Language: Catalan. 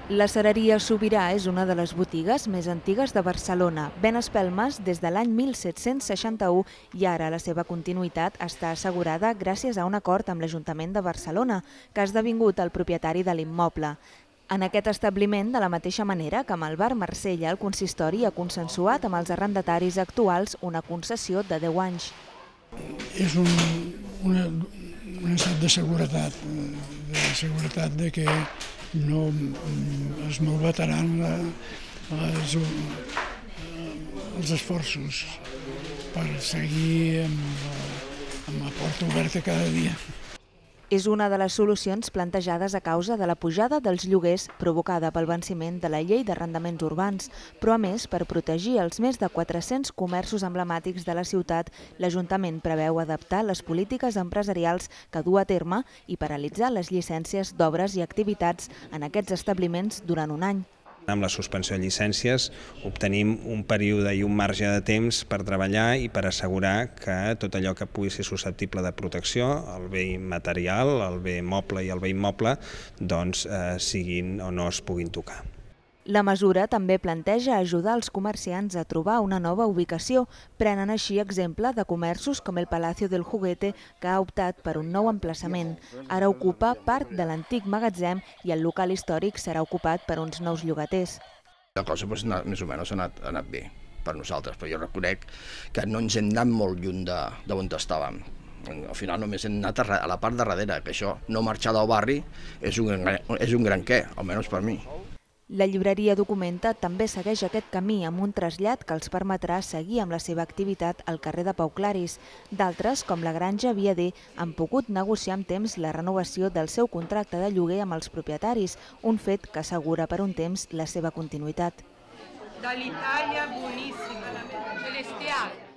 La Cereria Sobirà és una de les botigues més antigues de Barcelona. Ven espelmes des de l'any 1761 i ara la seva continuïtat està assegurada gràcies a un acord amb l'Ajuntament de Barcelona, que ha esdevingut el propietari de l'immoble. En aquest establiment, de la mateixa manera que amb el bar Marsella, el consistori ha consensuat amb els arrendataris actuals una concessió de 10 anys. És un estat de seguretat de que no es malbataran els esforços per seguir amb la porta oberta cada dia. És una de les solucions plantejades a causa de la pujada dels lloguers provocada pel venciment de la llei d'arrendaments urbans, però a més, per protegir els més de 400 comerços emblemàtics de la ciutat, l'Ajuntament preveu adaptar les polítiques empresarials que du a terme i paralitzar les llicències d'obres i activitats en aquests establiments durant un any. Amb la suspensió de llicències obtenim un període i un marge de temps per treballar i per assegurar que tot allò que pugui ser susceptible de protecció, el bé material, el bé moble i el bé immoble, doncs siguin o no es puguin tocar. La mesura també planteja ajudar els comerciants a trobar una nova ubicació. Prenen així exemple de comerços com el Palacio del Juguete, que ha optat per un nou emplaçament. Ara ocupa part de l'antic magatzem i el local històric serà ocupat per uns nous llogaters. La cosa més o menys ha anat bé per nosaltres, però jo reconec que no ens hem anat molt lluny d'on estàvem. Al final només hem anat a la part de darrere, que això, no marxar del barri, és un gran què, almenys per mi. La llibreria Documenta també segueix aquest camí amb un trasllat que els permetrà seguir amb la seva activitat al carrer de Pau Claris. D'altres, com la Granja Viader, han pogut negociar amb temps la renovació del seu contracte de lloguer amb els propietaris, un fet que assegura per un temps la seva continuïtat. Dall'Italia buonissima, celestiale.